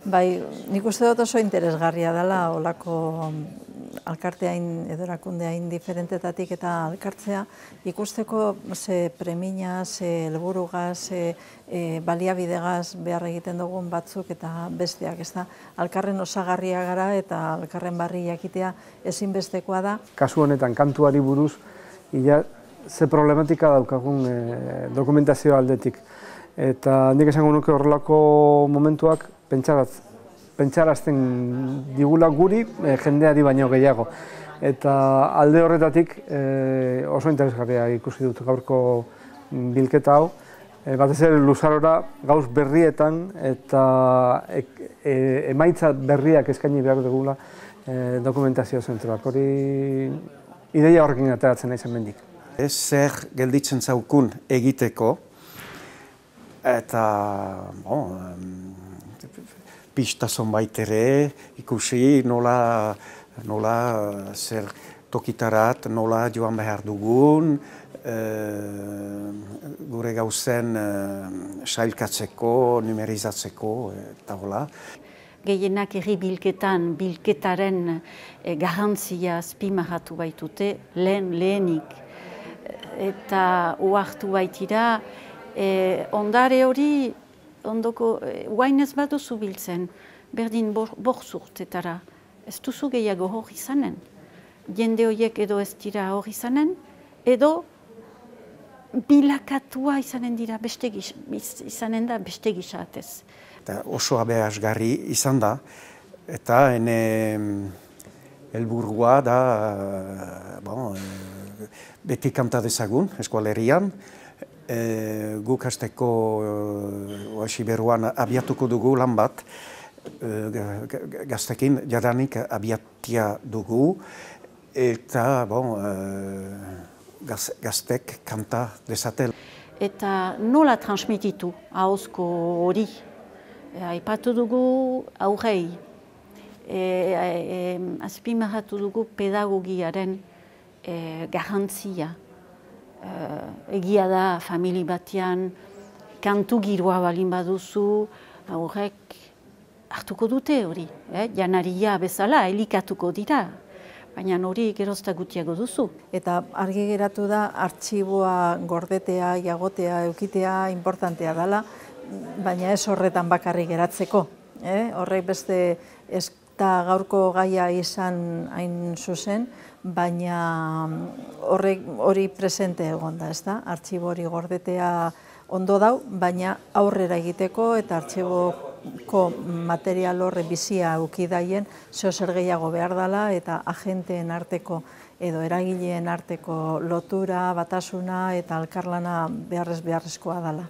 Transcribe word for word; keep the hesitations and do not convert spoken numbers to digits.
Bai, nik uste dut oso interesgarria dela olako alkarteain edo erakundeain diferentetatik eta alkartzea ikusteko ze premina, ze helburugaz, ze e, baliabidegaz behar egiten dugun batzuk eta besteak, ez da? Alkarren osagarria gara eta alkarren barri jakitea ezinbestekoa da. Kasu honetan kantuari buruz, ia ze problematika daukagun e, dokumentazio aldetik. Eta nik esango nuke horrelako momentuak pentsarazten digula guri e, jendeari baino gehiago. Eta alde horretatik e, oso interesgarria ikusi dut gaurko bilketa hau. E, batez ere luzarora gauz berrietan eta e, e, emaitza berriak eskaini behar dugula e, dokumentazio zentroak. Hori ideia horrekin ateratzen naiz hemendik. Ez zer gelditzen zaukun egiteko, eta bon, pista zonbait ere ikusi nola, nola zer tokitarat, nola joan behar dugun, e, gure gauzen e, sailkatzeko, numerizatzeko eta hola. Gehienak herri bilketan, bilketaren e, garantzia azpimarratu baitute, lehen lehenik. Eta uartu baitira, e, ondare hori, ondoko, e, guain ez baduzu biltzen, berdin borzurtetara, ez duzu gehiago hori izanen. Jende horiek edo ez dira hori izanen, edo bilakatua izanen dira beste gisa, izanen da beste gisatez. Eta oso aberasgarri izan da, eta ene helburua da, bon, beti kanta dezagun eskualerian. E, guk hasteko oasi beruan abiatuko dugu lan bat, e, gaztekin jadanik abiatia dugu, eta bon, e, gaz, gaztek kanta dezatel. Eta nola transmititu ahozko hori? Aipatu dugu aurrei, e, e, azpimarratu dugu pedagogiaren e, garantzia. E, egia da, famili batean, kantu giroa balin baduzu, aurrek hartuko dute hori. Eh? Janaria bezala, elikatuko dira. Baina hori gerozta gutiago duzu. Eta argi geratu da, artxiboa gordetea, jagotea, eukitea, importantea dela, baina ez horretan bakarrik geratzeko. Eh? Horrek beste ez da gaurko gaia izan hain zuzen, baina horrek hori presente egon da, ez da? Artxibo hori gordetea ondo dau, baina aurrera egiteko eta artxiboko material horre bizia eukidaien zeo zer gehiago behar dela eta agenteen arteko edo eragileen arteko lotura, batasuna eta elkarlana beharrez beharrezkoa dela.